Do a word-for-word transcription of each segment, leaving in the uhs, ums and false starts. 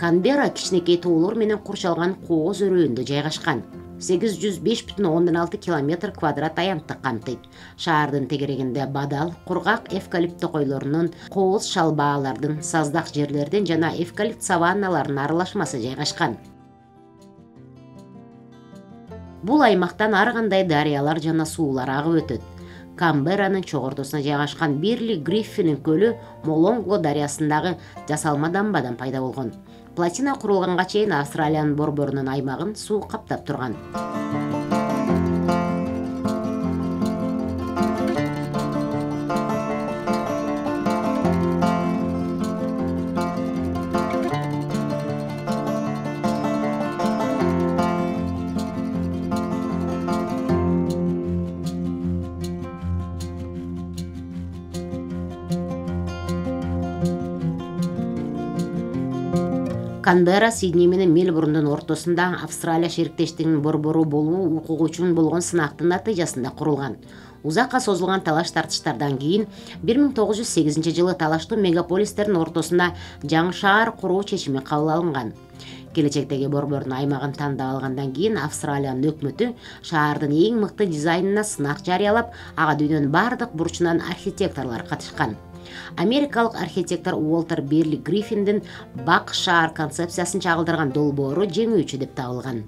Канберра кичинекей тоолор менен курчалган кооз өрөөндө жайгашкан. сегиз жүз беш бүтүн ондон алты километр квадрат аянтты камтыйт. Шаардын тегерегинде бадал, кургак эвкалипт токойлорунун, кооз шалбаалардын, саздак жерлердин жана эвкалипт саванналарынын аралашмасы жайгашкан. Бул аймактан ар кандай дарыялар жана суулар агып өтөт. Канберранын чогордосуна жайгашкан Бирли Гриффинин көлү Молонго дарыясындагы жасалма дамбадан пайда болгон. Плотина курулганга чейин Австралиянын борборунун аймагын суу каптап турган. Канберра Сидней менен Мельбурндун ортосунда Австралия шериктештигинин борбору болуу укугу үчүн болгон сынактын натыйжасында курулган. Узакка созулган талаш тартыштардан кийин бир миң тогуз жүз сегизинчи жылы талаштуу мегаполистердин ортосунда жаңы шаар куруу чечими кабыл алынган. Келечектеги борбордун аймагын тандап алгандан кийин Австралиянын өкмөтү шаардын эң мыкты дизайнына сынак жарыялап, ага дүйнөнүн бардык бурчунан архитекторлор катышкан. Америкалык архитектор Уолтер Бирли Гриффиндин бак шаар концепциясын чагылдырган долбоору жеңүүчү деп табылган.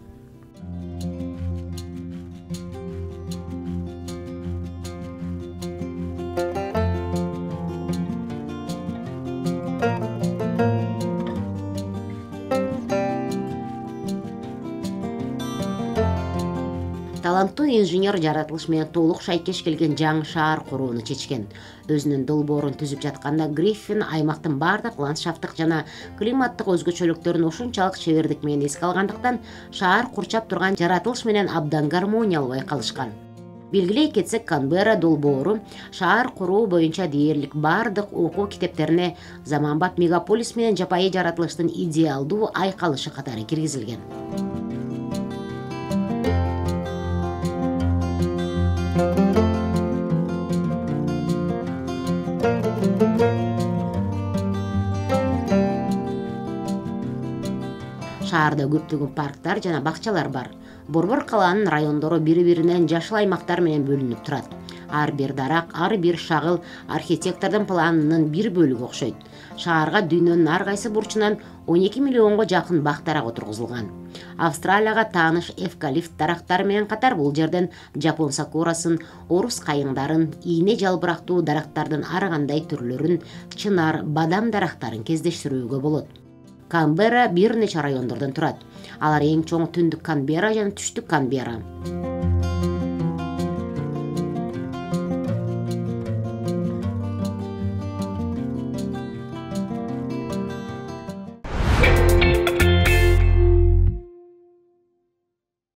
Таланттуу инженер жаратылыш менен толук шайкеш келген жаңы шаар курууну чечкен. Өзүнүн долбоорун түзүп жатканда Гриффин аймактын бардык ландшафттык жана климаттык өзгөчөлүктөрүн ушунчалык чебердик менен эске алгандыктан шаар курчап турган жаратылыш менен абдан гармониялуу байкалышкан. Белгилей кетсек, Канберра долбоору шаар куруу боюнча дээрлик бардык окуу китептерине заманбап мегаполис менен жапайы жаратылыштын идеалдуу айкалышы катары киргизилген. Шаарда көптөгөн парктар жана бакчалар бар. Борбор калаанын райондору бири-биринен жашыл аймактар менен бөлүнүп турат. Ар бир дарак, ар бир шагыл архитектордун планынын бир бөлүгү окшойт. Шаарга дүйнөнүн ар кайсы бурчунан он эки миллионго жакын бак дарак отургузулган. Австралияга тааныш эвкалипт дарактары менен катар бул жерден жапон сакурасын, орус кайыңдарын, ийне жалбырактуу дарактардын ар кандай түрлөрүн, чынар, бадам дарактарын кездештирүүгө болот. Канберра бир нече райондордон турат. Алар эң чоң түндүк Канберра жана түштүк Канберра.